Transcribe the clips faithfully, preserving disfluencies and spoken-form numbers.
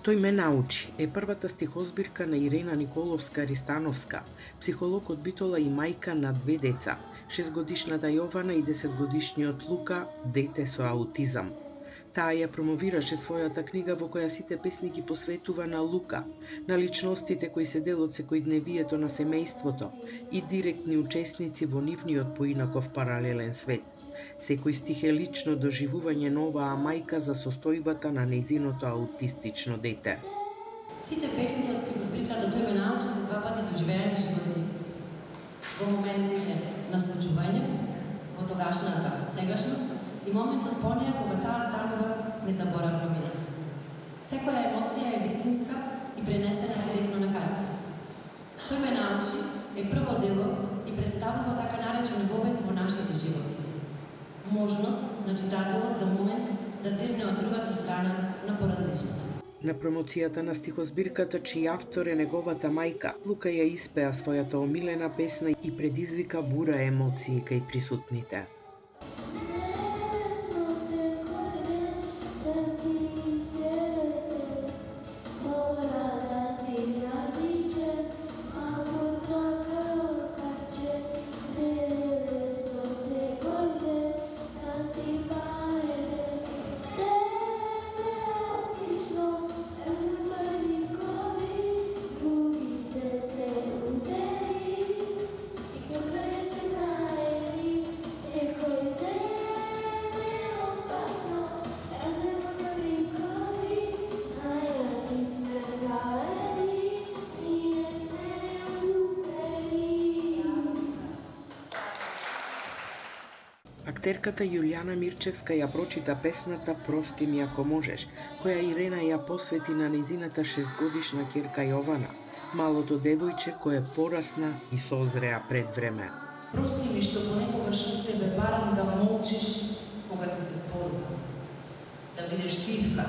Тој ме научи е првата стихозбирка на Ирена Николовска-Ристановска, психолог од Битола и мајка на две деца, шестгодишната Јована и десетгодишниот Лука, дете со аутизам. Таа ја промовираше својата книга во која сите песни ги посветува на Лука, на личностите кои се дел од секојдневието на семејството и директни учесници во нивниот поинаков паралелен свет. Секој стих е лично доживување на оваа мајка за состојбата на нејзиното аутистично дете. Сите песни од стихозбирката Тој ме научи се два пати доживеани животни искуства. Во моментите на случување, во тогашната сегашност и моментот по неја кога таа станува незаборавно минато. Секоја емоција е вистинска и пренесена директно на карта. Тој ме научи е прво дело и представува така наречен вовет во нашите животи. Можност на читателот за момент да дзирне од другата страна на поразличното. На промоцијата на стихозбирката, чиј автор е неговата мајка, Лука ја испеа својата омилена песна и предизвика бура емоции кај присутните. Актерката Јулијана Мирчевска ја прочита песната "Прости ми ако можеш", која Ирена ја посвети на нејзината шестгодишна ќерка Јована, малото девојче кое порасна и созреа пред време. Прости ми што понекогаш од тебе барам да молчиш кога ти се зборува. Да бидеш тивка,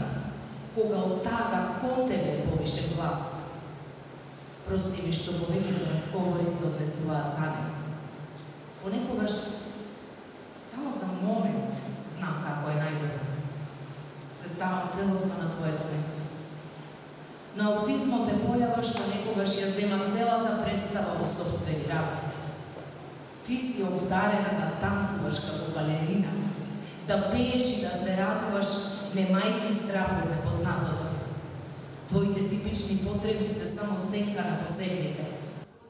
кога од тага кон тебе повише глас. Прости ми што повеќето разговори се однесуваат за него. Понекогаш само за момент знам како е најдобро. Се ставам целосно на твоето место. На аутизмот е појава што некогаш ја зема целата представа во сопствени раце. Ти си обдарена да танцуваш како балерина, да пееш и да се радуваш, немајки страх од непознатото. Твоите типични потреби се само сенка на посебните.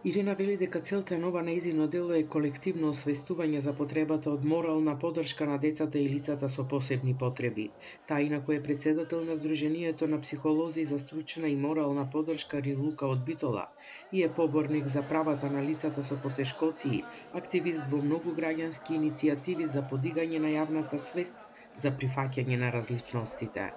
Ирена вели дека целта на ова нејзино дело е колективно освестување за потребата од морална поддршка на децата и лицата со посебни потреби. Таа инаку е председател на Сдруженијето на психолози за стручна и морална поддршка Рилука од Битола и е поборник за правата на лицата со потешкотии, активист во многу граѓански иницијативи за подигање на јавната свест за прифаќање на различностите.